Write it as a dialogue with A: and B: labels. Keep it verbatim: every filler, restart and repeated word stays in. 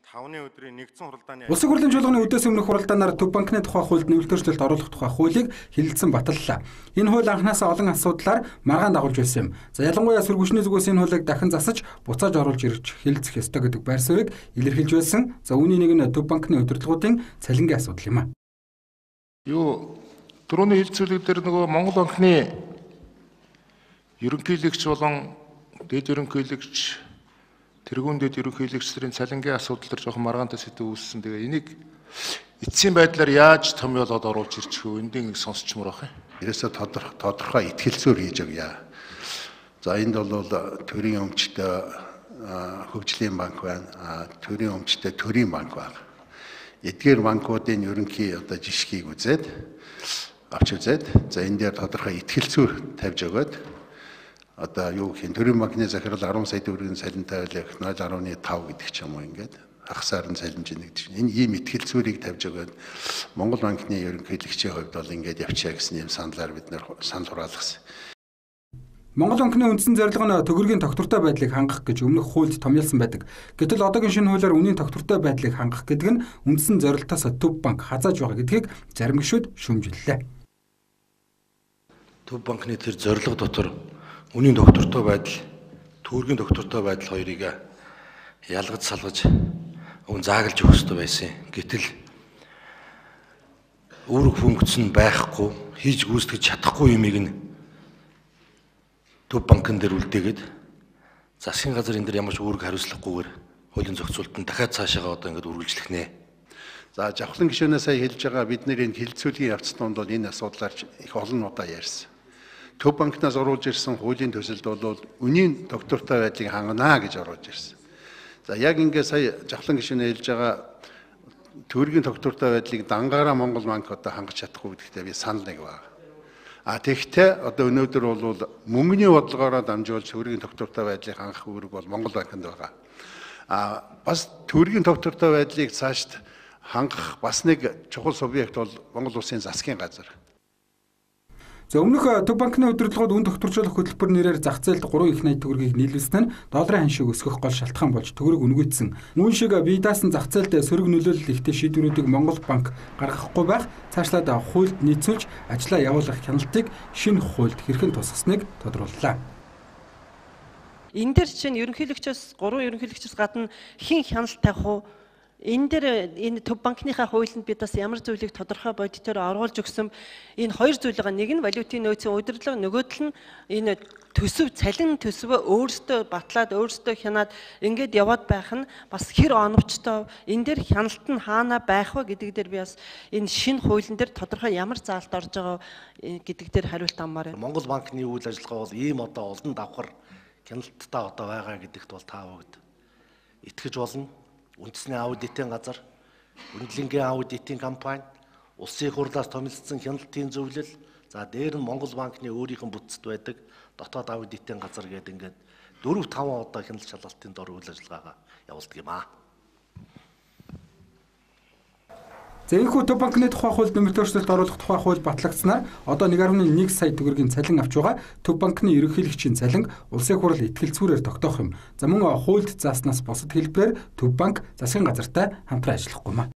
A: тавны өдрийн нэгдсэн хуралдааны
B: Улсын хурлын чуулганы үдээс өмнөх хуралдаанаар Төв банкны тухай хуульд нэмэлтөөрчлөлт оруулах тухай хуулийг хэлэлцэн баталлаа. Энэ хууль анхнаасаа олон асуудлаар маргаан дагуулж байсан юм. За ялангуяа сөргөчний зүгээс энэ хуулийг дахин засаж буцааж оруулж ирж хэлэлцэх ёстой гэдэг байр суурийг илэрхийлж байсан. За үүний нэг нь Төв банкны удирдлагуудын цалингийн асуудал юм а.
C: Юу түрүүний хэлцүүлэг дээр нөгөө Монгол банкны ерөнхийлөгч болон дэд ерөнхийлөгч тэргүүн дэд ерөнхийлөгчдийн цалингийн асуудал төр жоохон маргаантай сэдв үүссэн. Тэгээ энийг эцсийн байдлаар яаж томьёолоод оруулж ирчих вэ? Эндийн сонсчмор байх юм.
D: Ерөөсө тодорхой тодорхой итгэлцүүр хийж өгье. За энд бол төрийн өмчтэй хөгжлийн банк байна. Төрийн өмчтэй төрийн банк байна. Эдгээр банкуудын ерөнхий одоо жишгийг үзээд авч үзээд за энэ дээр тодорхой итгэлцүүр тавьж өгөөд одоо юу гэх юм төрийн банкны захирал арван сая төгрөгийн цалин тавиулах нуль гаруй тав гэдэг ч юм уу ингээд хагасаар нь цалинж нэгдэж энэ ийм итгэлцүүрийг тавьж өгөөд Монгол банкны ерөнхийлөгчийн хувьд бол ингээд явчаа гэсэн юм саналаар бид нэр санал хураалгасан.
B: Монгол банкны үндсэн зорилго нь төгрөгийн тогтвортой байдлыг хангах гэж өмнөх хуульд томьёолсон байдаг. Гэтэл одоогийн шинэ хуулиар үнийн тогтвортой байдлыг хангах гэдэг нь үндсэн зорилтоос Төв банк хазааж байгаа гэдгийг зарим гишүүд шүүмжиллээ.
E: Төв банкны тэр зорилго дотор үнийн тогтвортой байдал, төгрөгийн тогтвортой байдал хоёрыг ялгаж салгаж өн заагалж өгөх ёстой байсан. Гэтэл үүрэг функц нь байхгүй, хийж гүйцэтгэж чадахгүй юмыг нь Төв банкн дээр үлдээгээд засгийн газар энэ дээр ямар ч үүрэг хариуцлагагүйгээр хуулийн зохицуултанд дахиад цаашаага одоо ингэж үргэлжлэх нэ.
D: За жавхлан гишүүнээ сая хэлж байгаа бид нэр энэ хилцүүлгийн явц донд бол энэ асуудлаар их олон удаа ярьсан. Төв банкнаас оруулж ирсэн хуулийн төсөлд бол үнийн тогтвортой байдлыг хангана гэж оруулж ирсэн. За яг ингээ сая жавхлан гишүүнээ хэлж байгаа төгрөгийн тогтвортой байдлыг дангаараа Монгол банк одоо хангаж чадахгүй гэдэгтээ би санал нэг байна. А тэгтээ одоо өнөөдөр бол мөнгөний бодлогоороо дамжуулж төгрөгийн тогтвортой байдлыг хангах үүрэг бол Монгол банкнд байгаа. А бас төгрөгийн тогтвортой байдлыг цаашд хангах бас нэг чухал субъект бол Монгол улсын засгийн газар.
B: За өмнөх Төв банкны удирдлагууд үн тогтворжуулах хөтөлбөр нэрээр зах зээлд гурван их найт төгрөгийг нийлүүлсэн нь долларын ханшийг өсгөх гол шалтгаан болж төгрөг үнгүйдсэн. Мөн шиг бие даасан зах зээлд сөрөг нөлөөлөл ихтэй шийдвэрүүдийг Монгол банк гаргахгүй байх цаашлаад хуульд нийцүүлж ажлаа явуулах хяналтыг шинэ хуульд хэрхэн тусгасныг тодрууллаа.
F: Энэ дээр чинь ерөнхийлөгчөөс гурван ерөнхийлөгчөөс гадна хэн хяналт тавих уу? Энэ дээр энэ Төв банкныхаа хуулинд бид бас ямар зүйлийг тодорхой бодитоор оруулж өгсөн энэ хоёр зүйл байгаа. Нэг нь валютын нөөцийн удирдлага, нөгөөдөл нь энэ төсөв цалин төсвөө өөрсдөө батлаад өөрсдөө хянаад ингээд яваад байх нь бас хэр оновчтой. Энэ дээр хяналт нь хаана байх вэ гэдэг дээр би бас энэ шинэ хуулийн дээр тодорхой ямар заалт орж байгаа гэдэг дээр хариулт аммаар байна.
E: Монгол банкны үйл ажиллагаа бол ийм одоо олон давхар хяналттай одоо байгаа гэдэгт бол та бүгд итгэж болно. Үндэсний аудитын газар, үнэлэнгийн аудитын компани, улсын хурлаас томилсон хяналтын зөвлөл, за дээр нь Монгол банкны өөрийнх нь бүтцэд байдаг дотоод аудитын газар гэдэг ингээд дөрөв таван удаа хяналт шалгалтын дор үйл ажиллагаагаа явуулдаг юм аа.
B: За энэхүү Төв банкны тухай хуульд нэмэлтөөрчлөлт оруулах тухай хууль батлагдсанаар одоо нэг гаруй нэг сая төгрөгийн цалин авч байгаа Төв банкны ерөнхийлөгчийн цалин улсын хурал итгэлцүүрээр тогтоох юм. За мөн хуульд зааснаас бусад хэлбэрээр Төв банк засгийн газартай хамтран ажиллахгүй маа.